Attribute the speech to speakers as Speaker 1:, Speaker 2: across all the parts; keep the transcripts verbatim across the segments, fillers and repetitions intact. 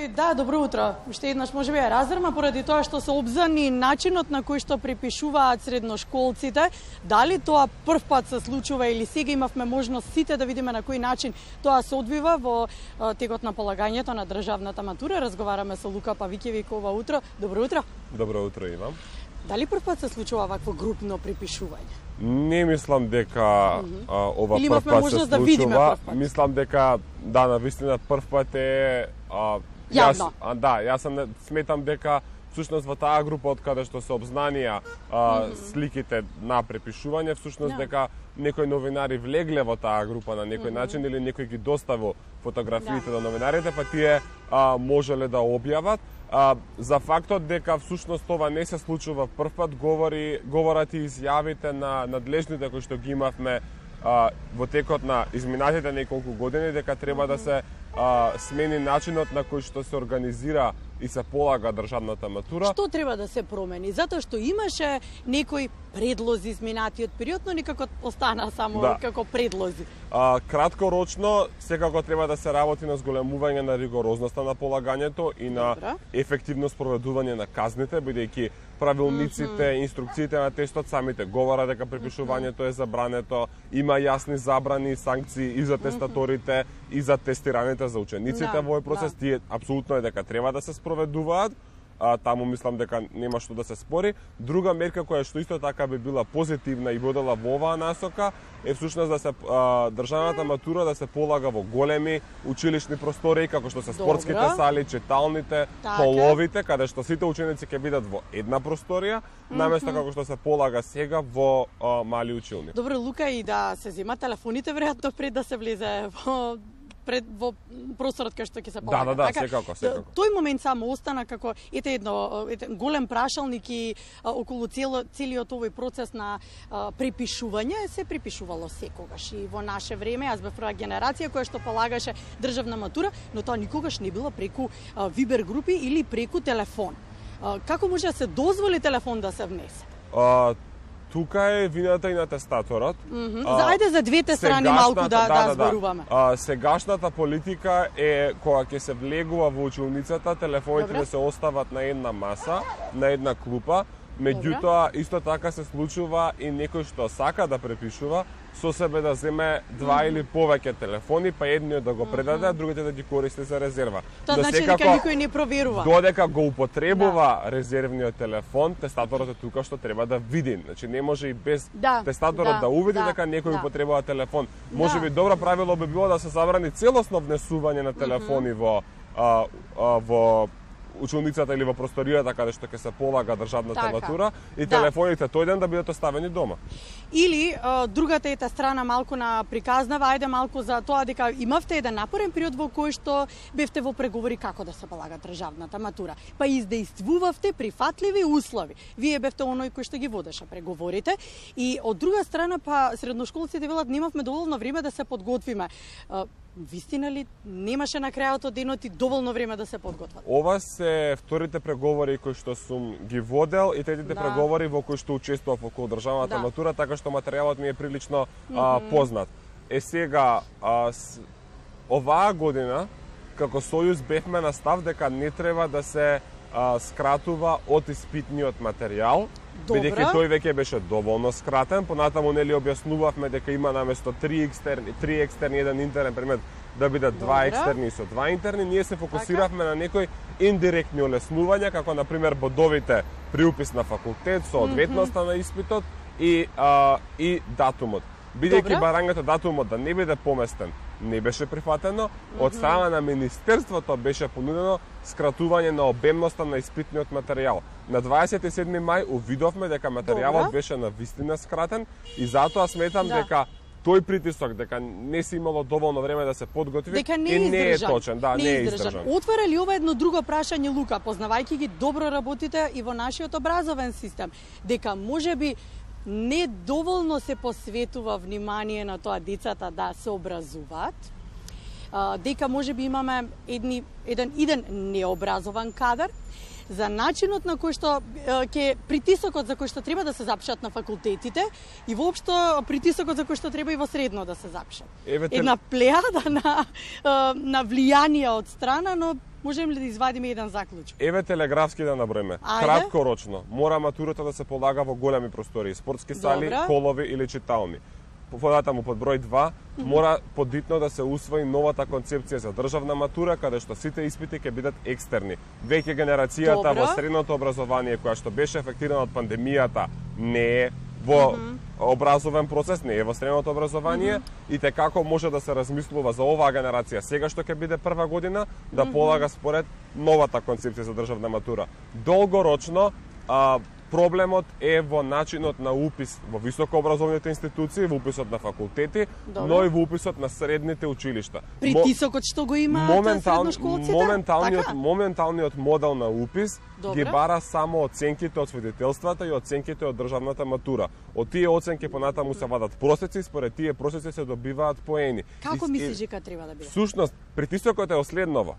Speaker 1: Да, добро утро. Уште еднаш може би ја раздрма поради тоа што се обзани начинот на кој што препишуваат средношколците. Дали тоа прв пат се случува или сега имавме можност сите да видиме на кој начин тоа се одвива во текот на полагањето на државната матура. Разговараме со Лука Павиќевиќ ова утро. Добро утро.
Speaker 2: Добро утро и вам.
Speaker 1: Дали прв пат се случува вакво групно препишување?
Speaker 2: Не мислам дека mm -hmm. а, ова
Speaker 1: или
Speaker 2: прв пат се случува.
Speaker 1: Да видиме прв пат.
Speaker 2: Мислам дека да, навистина прв пат е а,
Speaker 1: јавно.
Speaker 2: А, да, јас сам сметам дека всушност во таа група од каде што се обзнанија а, mm -hmm. сликите на препишување, всушност yeah. дека некои новинари влегле во таа група на некој mm -hmm. начин или некој ги доставил фотографиите yeah. до новинарите, па тие а, можеле да објават. А, за фактот дека всушност ова не се случува прв пат говори говорат и изјавите на надлежните кои што ги имавме а, во текот на изминатите неколку години, дека треба mm -hmm. да се а, смени начинот на кој што се организира и се полага државната матура.
Speaker 1: Што треба да се промени? Затоа што имаше некои предлози изминатиот период, но никако остана само да. како предлози.
Speaker 2: А, краткорочно, секако треба да се работи на зголемување на ригорозноста на полагањето и на Добра. ефективно спроведување на казните, бидејќи правилниците, mm -hmm. инструкциите на тестот самите говорат дека препишувањето е забрането, има јасни забрани и санкции и за тестаторите, mm -hmm. и за тестираните за учениците да, во овој процес. Да. Тие апсолутно е дека треба да се спроведуваат. А, таму мислам дека нема што да се спори. Друга мерка која што исто така би била позитивна и водела во оваа насока е всушност да се а, државната матура да се полага во големи училишни простории, како што се спортските Добра. сали, читалните, така. холовите, каде што сите ученици ќе бидат во една просторија, mm -hmm. наместо како што се полага сега во а, мали училни.
Speaker 1: Добро, Лука, и да се зема телефоните веројатно пред да се влезе во пред во просторот кај што ќе се полага.
Speaker 2: Да, да, да,
Speaker 1: така,
Speaker 2: секако, секако.
Speaker 1: Тој момент само остана како ете едно ете, голем прашалник и а, околу цело, целиот овој процес на а, препишување се препишувало секогаш и во наше време. Јас бев прва генерација која што полагаше државна матура, но тоа никогаш не било преку а, Вибер групи или преку телефон. А, како може да се дозволи телефон да се внесе?
Speaker 2: А, Тука е вината и на тестаторот.
Speaker 1: Mm -hmm. а, Ајде за двете страни малку да, да, да, да зборуваме.
Speaker 2: А, сегашната политика е кога ќе се влегува во училницата, телефоните да се остават на една маса, на една клупа. Меѓутоа, исто така се случува и некој што сака да препишува, со себе да земе два mm -hmm. или повеќе телефони, па едниот да го предаде, а другите да ги користи за резерва.
Speaker 1: Тоа значи дека никој не проверува.
Speaker 2: Додека го употребува да. резервниот телефон, тестаторот е тука што треба да види. Значи не може и без
Speaker 1: да,
Speaker 2: тестаторот да, да увиди да, дека некој да. употребува телефон. Може би да. добро правило би било да се забрани целосно внесување на телефони mm -hmm. во а, а, во училницата или во просторијата каде што ќе се полага државната така. матура и да. телефоните тој ден да бидат оставени дома.
Speaker 1: Или а, другата ета страна малку на приказнава, ајде малку за тоа дека имавте еден напорен период во кој што бевте во преговори како да се полага државната матура. Па издействувавте прифатливи услови. Вие бевте оној кој што ги водеше преговорите и од друга страна па средношколците велат немавме доволно време да се подготвиме. А, Вистина ли немаше на крајот од денот и доволно време да се подготват?
Speaker 2: Ова се вторите преговори кои што сум ги водел и третите да. преговори во кои што учествував околу државната да. матура, така што материјалот ми е прилично mm -hmm. а, познат. Е сега, а, с... оваа година, како Сојуз бевме на став дека не треба да се а, скратува од испитниот материјал, бидејќи тој веќе беше доволно скратен. Понатаму нели објаснувавме дека има наместо три екстерни, три екстерни, еден интерен предмет да бидат два екстерни со два интерни. Ние се фокусиравме така? на некои индиректни олеснувања, како на пример бодовите при упис на факултет, соодветноста mm -hmm. на испитот и а, и датумот. Бидејќи барањето датумот да не биде поместен, не беше прифатено, mm -hmm. од страна на Министерството беше понудено скратување на обемноста на испитниот материјал. На дваесет и седми мај увидовме дека материјалот Добра. беше на вистина скратен и затоа сметам да. дека тој притисок дека не се имало доволно време да се подготви
Speaker 1: дека не
Speaker 2: и не е
Speaker 1: издржан.
Speaker 2: точен, да, не, не е издржан.
Speaker 1: Отвара ли ова едно друго прашање, Лука, познавајќи ги добро работите и во нашиот образовен систем, дека можеби не доволно се посветува внимание на тоа децата да се образуваат, дека можеби имаме едни, еден, еден необразован кадар, за начинот на кој што ќе притисокот за кој што треба да се запишат на факултетите и воопшто притисокот за кој што треба и во средно да се запишат.
Speaker 2: Евете...
Speaker 1: Една плејада на на влијанија од страна, но можеме ли да извадиме еден заклучок?
Speaker 2: Еве телеграфски да наброиме. Краткорочно мора матурата да се полага во големи простории, спортски сали,
Speaker 1: Добра.
Speaker 2: холови или читални. Понатаму под број два, mm -hmm. мора подитно да се усвои новата концепција за државна матура, каде што сите испити ќе бидат екстерни. Веќе генерацијата
Speaker 1: Добра.
Speaker 2: во средното образование, која што беше ефектирана од пандемијата, не е во mm -hmm. образовен процес, не е во средното образование, mm -hmm. и те како може да се размислува за оваа генерација сега што ќе биде прва година, да mm -hmm. полага според новата концепција за државна матура. Долгорочно, а, проблемот е во начинот на упис во високообразовните институции, во уписот на факултети, Добре. но и во уписот на средните училишта.
Speaker 1: Притисокот што го има
Speaker 2: Моментал...
Speaker 1: средношколците?
Speaker 2: Моменталниот,
Speaker 1: така?
Speaker 2: моменталниот модел на упис
Speaker 1: Добре.
Speaker 2: ги бара само оценките од свидетелствата и оценките од државната матура. Од тие оценки понатаму се вадат просеци, според тие просеци се добиваат поени.
Speaker 1: Како
Speaker 2: и,
Speaker 1: мислиш дека треба да биде?
Speaker 2: Сушност, притисокот е оследново.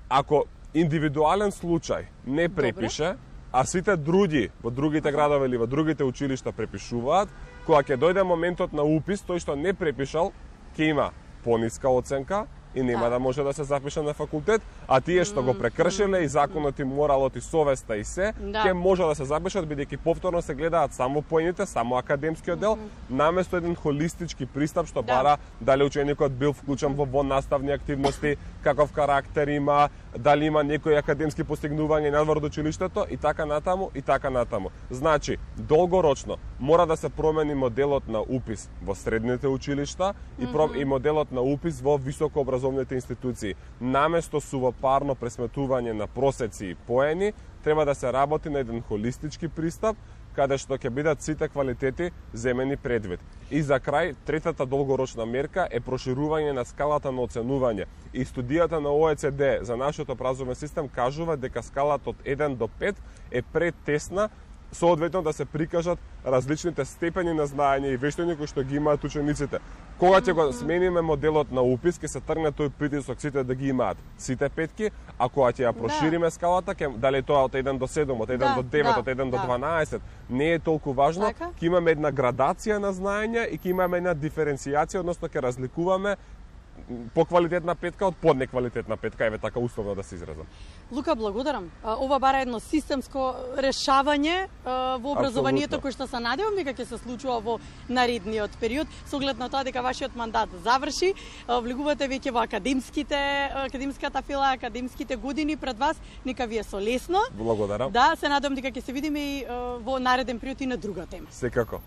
Speaker 2: Ако индивидуален случај не препише, Добре. а сите други во другите градови или во другите училишта препишуваат, кога ќе дојде моментот на упис, тој што не препишал ќе има пониска оценка и нема да може да се запише на факултет, а тие што го прекршиле и законот и моралот и совеста и се,
Speaker 1: да.
Speaker 2: ќе може да се запишат бидејќи повторно се гледаат само поените, само академскиот дел, наместо еден холистички пристап што
Speaker 1: да.
Speaker 2: бара дали ученикот бил вклучен во воннаставни активности, каков карактер има, дали има некои академски постигнувања надвор од училиштето и така натаму и така натаму. Значи, долгорочно мора да се промени моделот на упис во средните училишта и, mm-hmm. и моделот на упис во високообразовните институции. Наместо сувопарно пресметување на просеци и поени, треба да се работи на еден холистички пристап, каде што ќе бидат сите квалитети земени предвид. И за крај, третата долгорочна мерка е проширување на скалата на оценување. И студијата на О Е Це Де за нашиот образовен систем кажува дека скалата од еден до пет е претесна, соодветно да се прикажат различните степени на знаење и вештини кои што ги имаат учениците. Кога ќе го смениме моделот на упис, ќе се тргне тој притисок сите да ги имаат сите петки, а кога ќе ја прошириме да. скалата, ќе, дали тоа од еден до седум, од еден
Speaker 1: да,
Speaker 2: до девет,
Speaker 1: да,
Speaker 2: од еден
Speaker 1: да.
Speaker 2: до дванаесет, не е толку важно,
Speaker 1: така?
Speaker 2: Ќе имаме една градација на знаења и ќе имаме една диференцијација, односно ќе разликуваме поквалитетна петка од поднеквалитетна петка, еве така условно да се изразам.
Speaker 1: Лука, благодарам. Ова бара едно системско решавање во образованието кој што се надевам дека ќе се случува во наредниот период, со оглед на тоа дека вашиот мандат заврши, влегувате веќе во академските академската фила, академските години пред вас, нека ви е солесно.
Speaker 2: Благодарам.
Speaker 1: Да, се надевам дека ќе се видиме и во нареден период и на друга тема.
Speaker 2: Секако.